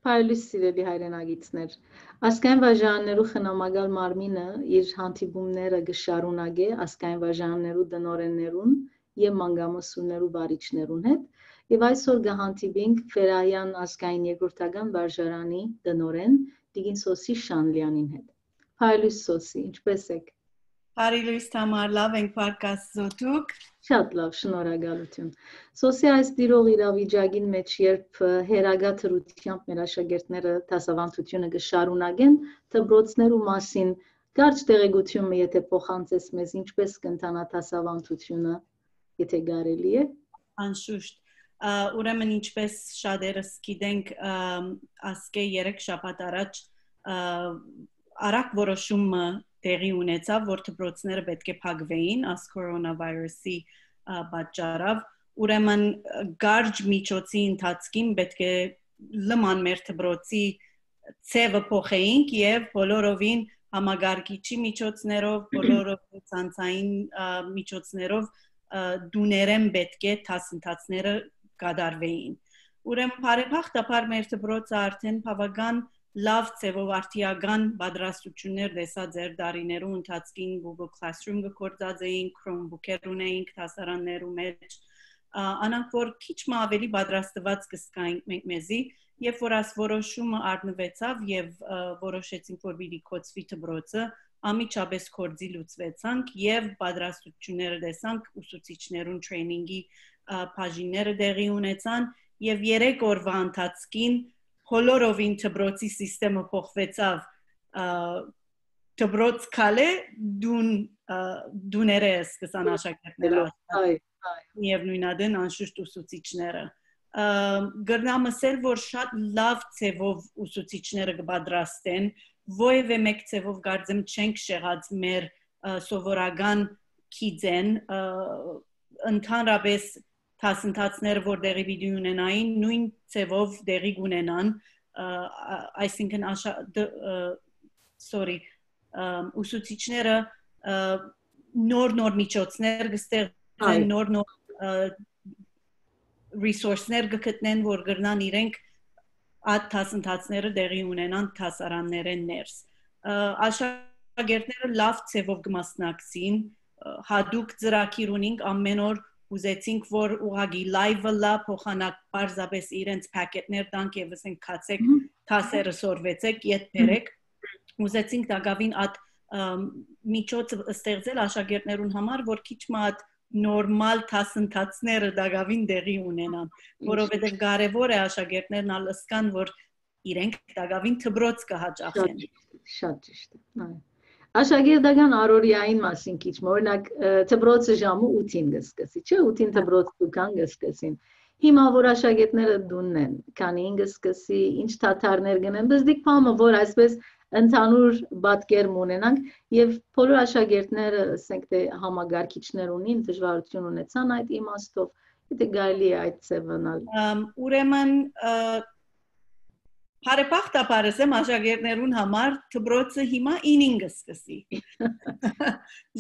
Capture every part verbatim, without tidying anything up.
Փայլուս, սիրելի հայրենակիցներ, Ազգային վարժարաններու խնամակալ մարմինը իր հանդիպումները կը շարունակէ ազգային վարժարաններու տնօրէններուն եւ մանկամուսուլներու վարիչներուն հետ, եւ այսօր կը հանդիպինք Ֆերահեան ազգային երկրորդական վարժարանի տնօրէն տիկին Սոսի Շանլեանին հետ։ Փայլուս, Սոսի, ինչպէս եք։ Բարի լոյս, Թամար, լաւ ենք, փառք Աստուծոյ, դուք։ Շատ լաւ, շնորհակալութիւն։ Սոսի, այս տիրող իրավիճակին մէջ, երբ, ը, հեռակայ դրությամբ մեր աշակերտները դասաւանդութիւնը կը շարունակեն, դպրոցներու մասին կարճ տեղեկութիւն մը եթէ փոխանցես մեզ, ինչպէս կ'ընթանայ դասաւանդութիւնը, եթէ կարելի է։ Անշուշտ։ Ա, ուրեմն, ինչպէս շատերս գիտենք, ա, ասկէ երեք շաբաթ առաջ, ա, արագ որոշում մը տեղի ունեցաւ, որ դպրոցները պէտք է փակուէին այս կորոնավիրուսի, ա, պատճառով։ Ուրեմն, ը, կարճ միջոցի ընթացքին պէտք է լման մեր դպրոցի ձևը փոխեինք եւ բոլորովին համակարգիչի միջոցներով, բոլորովին ցանցային, ա, միջոցներով, ա, տուներէն պէտք է դասընթացները կատարուէին։ Ուրեմն, բարեբախտաբար, մեր դպրոցը արդէն բաւական լաւ ձևով արդիական պատրաստություններ տեսած էր դարիներու ընթացքին, Google Classroom կը գործածէինք, Chromebook-եր ունէինք դասարաններու մէջ, ա, անանք որ քիչ մը ավելի պատրաստված կը զգայինք մենք մեզի, երբ որ այս որոշումը առնուեցաւ եւ, ա, որոշեցինք, որ պիտի կոչուի դպրոցը, անմիջապէս գործի լուծուեցանք եւ պատրաստությունները տեսանք ուսուցիչներուն training-ի, ա, բաժինները տեղի ունեցան եւ երեք օրվա ընթացքին բոլորովին դպրոցի սիստեմը փոխուեցաւ, ա, դպրոց քալէ դուն, ա, դուներէ սկսան աշակերտները Այո, աշակերտ այ, այ։ միևնույն ադեն անշուշտ ուսուցիչները։ Ա, կրնամ ասել, որ շատ լաւ ձևով ուսուցիչները կը պատրաստեն, որևէ մէկ ձևով կարծեմ չենք շեղած մեր, ա, սովորական գիծեն, ա, ընդհանրապես դասընթացները, որ տեղի պիտի ունենային, նոյն ձևով տեղի կունենան, ա, ա, այսինքն աշա-, դ-, ա, sorry, ա, ուսուցիչները, ա, նոր-նոր միջոցներ կստեղծեն, Այո։ նոր-նոր, ա, resource-ներ կգտնեն, որ կրնան իրենք այդ դասընթացները տեղի ունենան դասարաններէն ներս։ Ա, աշակերտները լաւ ձևով կմասնակցին, ա, հատուկ ծրագիր ունինք, ամեն օր ուզեցինք, որ ուղղակի live-ը լա, փոխանակ պարզապես իրենց packet-ներ տանք եւ ասենք, «Գացեք, Մհմ։ դասերը սորվեցեք, ետ Մհմ։ բերեք»։ Ուզեցինք տակաւին այդ, ըմ, միջոցը ստեղծել աշակերտներուն համար, որ քիչ մը այդ նորմալ դասընթացները տակաւին տեղի ունենան, Մհմ։ որովհետեւ կարեւոր է աշակերտներն ալ ըսկան, որ իրենք տակաւին դպրոց կը հաճախեն։ Շատ ճիշդ է, շատ ճիշտ է, այո։ Աշակերտական առօրյային մասին քիչ մը, օրինակ, ը, դպրոցը ժամը ութին կը սկսի, չէ՞, ութին Հա։ դպրոց դուքան կը սկսին։ Հիմա որ աշակերտները դունն են, քանին կը սկսի, ինչ թաթարներ կ'ընեն, բզդիկ բան մը, որ այսպես ընդհանուր պատկեր մը ունենանք, եւ բոլոր աշակերտները, ասենք թէ համակարգիչներ ունին, դժվարութիւն ունեցան այդ իմաստով, եթե կարելի է այդ ձևը ընալ։ Ամ, ուրեմն, ը, բարեբախտաբար, ասեմ, աշակերտներուն համար դպրոցը հիմա ինին կը սկսի։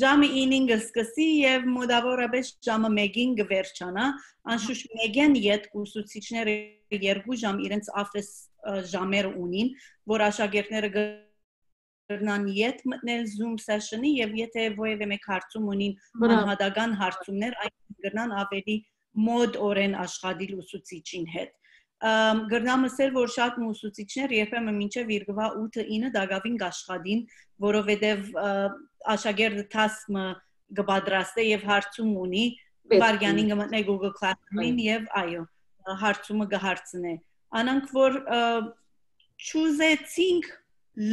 Ժամը ինին կը սկսի եւ մոտավորապես ժամը մէկին կը վերջանայ։ Անշուշտ մէկէն ետք ուսուցիչները երկու ժամ իրենց office, ը, ժամերը ունին, որ աշակերտները կրնան ետ մտնել Zoom session-ի եւ եթե որևէ մէկ հարցում ունին, Բրավո։ անհատական հարցումներ, այն կրնան ավելի մոտ օրեն աշխատիլ ուսուցիչին հետ։ Ամ, կրնամ ասել, որ շատ մը ուսուցիչներ երբեմն մինչեւ իրկվա ութը ինը տակաւին կաշխատին, որովհետեւ, ը, աշակերտը task մը կը պատրաստէ եւ հարցում ունի, Պետք վարյանին կը մտնէ Google Classroom-ին Այո։ եւ, այո, հարցումը կը հարցնէ։ Անոնք որ, ը, չուզեցինք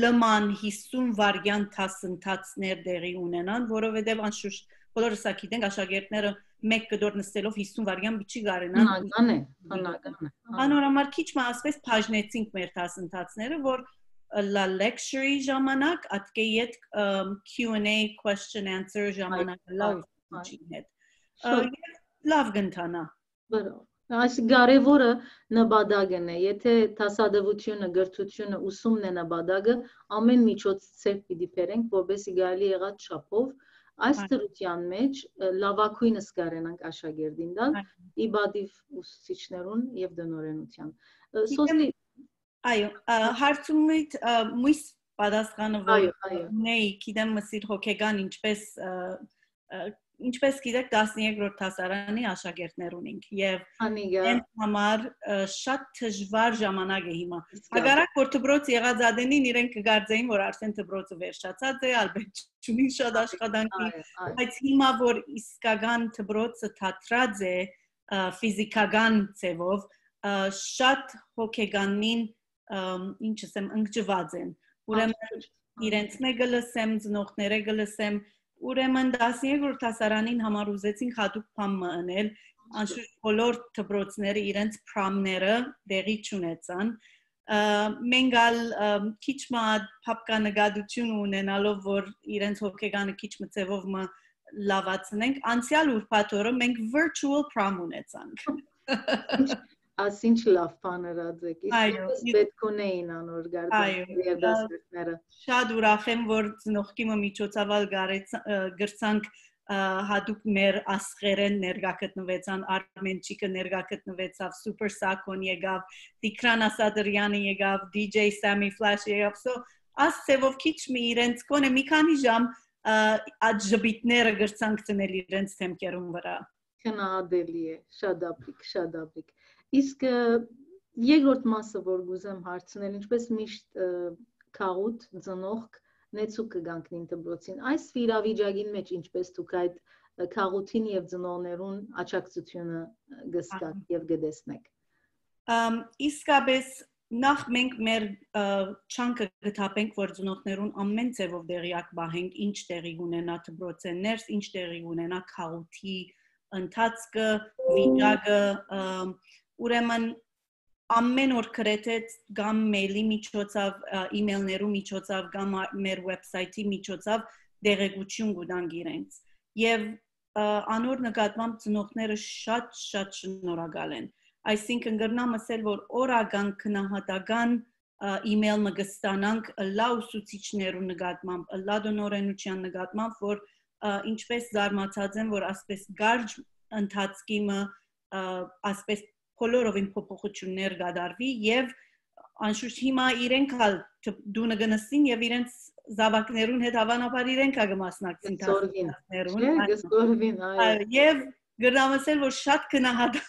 լման հիսուն վայրկեան դասընթացներ տեղի ունենան, որովհետեւ անշուշտ բոլորս ա գիտենք, աշակերտները մէկ կտոր նստելով հիսուն վայրկեան պիտի կարենան Բնական է, բնական է, այո։ Անոր համար քիչ մը ասպես բաժնեցինք մեր դասընթացները, որ, ը, լա lecture-ի ժամանակ, ատկէ ետք, ըմ, Q and A, question answer ժամանակ Այո, լա այո, ուսուցիչին հետ։ Ը, Շատ։ Եւ լաւ կ'ընթանայ։ Բրավո։ Այս կարեւորը նպատակն է, եթե դասադուությունը, կրթությունը, ուսումն է նպատակը, ամեն միջոց ձեռք պիտի բերենք, որպեսզի կարելի եղած չափով այս Այո։ դրության մեջ, ը, լավագույնս կարենանք աշակերտին տալ, Այո։ ի պատիվ ուսուցիչներուն եւ տնօրենության։ Ը, Գիտեմ, Սոսի, Այո, ը, հարցումիդ, ը, մույս պատասխանը, որ Այո, այո։ ունեի, գիտեմ, մսիր հոգեգան, ինչպես, ը, ը, ինչպես գիտեք, տասներկրորդ դասարանի աշակերտներ ունենք եւ Անիգա, հենց համար, ը, շատ դժվար ժամանակ է հիմա։ իսկական։ Հակառակ որ դպրոց եղած ադենին իրենք կգարձեին, որ արդեն դպրոցը վերջացած է, ալբետ չունին շատ աշխատանքի, Այո, այո։ բայց հիմա որ իսկական դպրոցը թատրած է, ը, ֆիզիկական ձևով, ը, շատ հոգեգանին, ըմ, ինչ ասեմ, ընկճված են։ Ուրեմն իրենց մը կը լսեմ, ծնողները կը լսեմ, ուրեմն տասներկրորդ դասարանին համար ուզեցինք հատուկ բան մը ընել, անշուշտ բոլոր դպրոցները իրենց պրամները տեղի չունեցան։ Ը, մենք ալ, ըմ, քիչ մը ատ փապկա նկատություն ունենալով, որ իրենց հոգեգանը քիչ մը ձևով մը լավացնենք, անցյալ ուրբաթ օրը մենք virtual prom ունեցանք։ Աս ինչ լավ բան ըրած եք, Այո, իսկապես ի- պետք ունեին անոր գարձան Այո, երդասերտները։ Շատ ուրախ եմ, որ ծնողքի մը միջոցաւալ գարեց-, ը, գրցանք, ը, հատուկ մեր աստղերեն ներկա գտնվեցան, Արմենչիկը ներկա գտնվեցավ, Super Sakon եկավ, Տիգրան Ասատրյանը եկավ, D J Sammy Flash եկավ, so աս ձևով քիչ մը իրենց կոնե մի քանի ժամ, ը, այդ ժպիտները գրցանք դնել իրենց դեմքերուն վրա։ Քննադելի է, շատ աբիկ, շատ աբիկ։ Իսկ, ը, երկրորդ մասը, որ կուզեմ հարցնել, ինչպես միշտ, ը, քաղուտ, ծնողք, նեցուկ կը կանգնին դպրոցին։ Այս իրավիճակին մեջ ինչպես դուք այդ, ը, քաղութին եւ ծնողներուն աջակցությունը, ը, կը զգաք Ահա։ Եւ կը տեսնեք։ Ամ, իսկապես նախ մենք մեր, ը, չանքը կը թափենք, որ ծնողներուն ամեն ձևով տեղյակ պահենք, ինչ տեղի կունենա դպրոցէն ներս, ինչ տեղի կունենա քաղութի ընթացքը, վիճակը, ը, ուրեմն ամեն օր գրեթե կամ mail-ի միջոցով, ը, email-ներու միջոցով, կամ ա-, մեր website-ի միջոցով տեղեկություն կու տանք իրենց։ Եւ, ը, անոր նկատմամբ ծնողները շատ, շատ շնորհակալ են։ Այսինքն կրնամ ասել, որ օրական գնահատական, ը, email մը կստանանք ըլլայ ուսուցիչներու նկատմամբ, ըլլայ տնօրենության նկատմամբ, որ, ը, ինչպես զարմացած են, որ ասպես կարճ ընթացքի մը, ը, ասպես բոլորովին փոփոխություններ կատարվի եւ անշուշտ հիմա իրենք ալ տ-, տունը կը նստին եւ իրենց զաւակներուն հետ, հավանաբար իրենք ալ կը մասնակցին Կսորվին, դասընթացներուն, չէ՞, այո։ Կսորվին, այո։ Այո, եւ կրնամ ասել, որ շատ գնահատ-,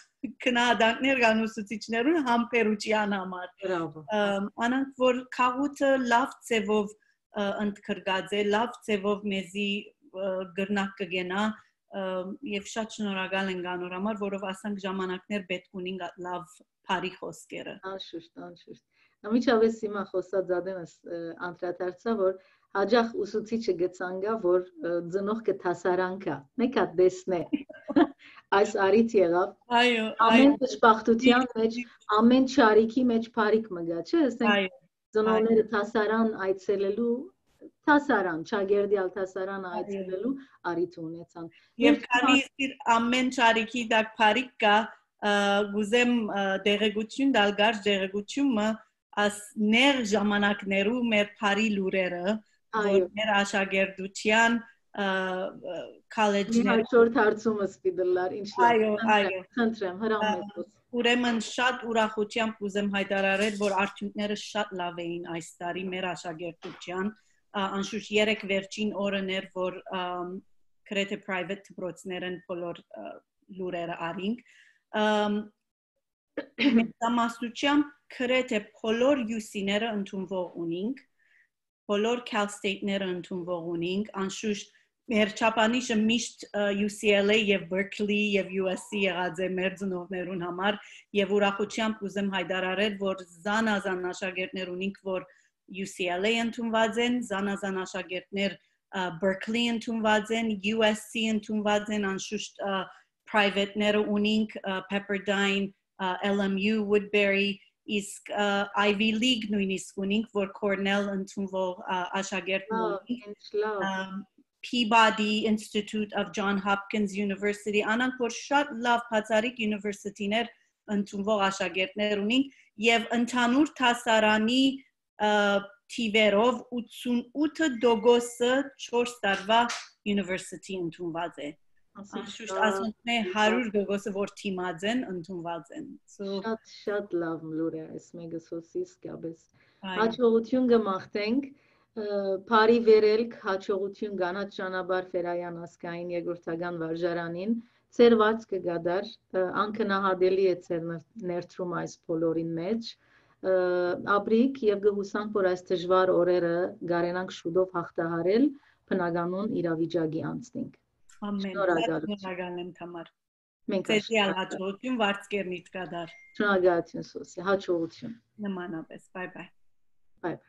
գնահատանքներ կան ուսուցիչներուն համբերության համար։ Բրավո։ Ըմ, անոնք որ քաղութը լավ ձևով, ը, ընդգրկած է, լավ ձևով մեզի, ը, կրնակ կը կենայ, ը, եւ շատ շնորհակալ ենք անոր համար, որով ասանք ժամանակներ պէտք ունին գա-, լավ բարի խօսքերը։ Անշուշտ, անշուշտ։ Անմիջապէս հիմա խօսած ադենս, ը, անդրադարձայ, որ յաճախ ուսուցիչը կը ցանկայ, որ, ը, ծնողքը դասարան գայ, մէկ հատ տեսնէ։ Այս առիթ եղաւ։ Այո, այո։ Ամեն դժբախտության մեջ, ամեն չարիքի մեջ բարիք մը գայ, չէ՞, ասենք, այո, ծնողները դասարան այցելելու, դասարան, Չագերտի ալ դասարանը այցելելու առիթ ունեցան։ Եվ քանի իր ամեն չարիքի տակ բարիք կայ, ը, կուզեմ, ը, տեղեկություն տալ, կարճ տեղեկություն մը, աս նեղ ժամանակներու մեր բարի լուրերը, որ, այո, մեր աշակերտության, ը, ը, college-ներ Իմ հաջորդ հարցումս պիտի լար, ինչ լավ։ Այո, խնդրեմ, այո։ Խնդրեմ, հրամայեք։ Ուրեմն շատ ուրախությամբ կուզեմ հայտարարել, որ արդյունքները շատ լավ էին այս տարի մեր աշակերտության, ա, անշուշտ երեք վերջին օրն էր, որ, ըմ, գրեթե private դպրոցներն բոլոր, ը, լուրերը առինք։ Ըմ, մեծամասնությամբ գրեթե բոլոր յուսիները ընդունվող ունինք, բոլոր Cal State-ները ընդունվող ունինք, անշուշտ մեր չափանիշը միշտ, ը, U C L A եւ Berkeley եւ U S C եղած է մեր ծնողներուն համար, եւ ուրախությամբ կուզեմ հայտարարել, որ զանազան աշակերտներ ունինք, որ U C L A ընդունված են, զանազան աշակերտներ, ը, Berkeley ընդունված են, U S C ընդունված են, անշուշտ, ը, private-ները ունինք, ը, Pepperdine, ը, L M U, Woodbury, իսկ, ը, Ivy League նույնիսկ ունինք, որ Cornell ընդունվող, ը, աշակերտ Ա, ունինք, ինչ լավ։ Ըմ, Peabody Institute of John Hopkins University, անոնք որ շատ լավ բացառիկ university-ներ ընդունվող աշակերտներ ունինք, եւ ընդհանուր դասարանի, ը, թիվերով ութսունութ տոկոսը չորս տարուայ university ընդունված է։ Անշուշտ, ասոնք մէ հարյուր տոկոսը որ դիմած են, ընդունուած են։ So, շատ, շատ լաւ լուր է այս մեկը, Սոսի, իսկապես։ Այո։ Հաջողություն կը մաղթենք, ը, բարի վերելք, հաջողություն Կանաչ ճանապարհ Ֆերայան ազգային երկրորդական վարժարանին, ձեր վարձքը կդար, ը, անգնահատելի է ձեր ներ-, ներդրումը այս բոլորին մէջ, ը, ապրիք եւ կը յուսանք, որ այս դժուար օրերը կարենանք շուտով հաղթահարել, բնականոն իրավիճակի անցնենք։ Ամեն, շատ շնորհակալություն։ Շնորհակալ եմ, Թամար։ Մենք ձեզի ալ հաջողություն, վարձքերնիդ կդար։ Շնորհակալություն, Սոսի, հաջողություն։ Նմանապես, bye bye։ Bye bye։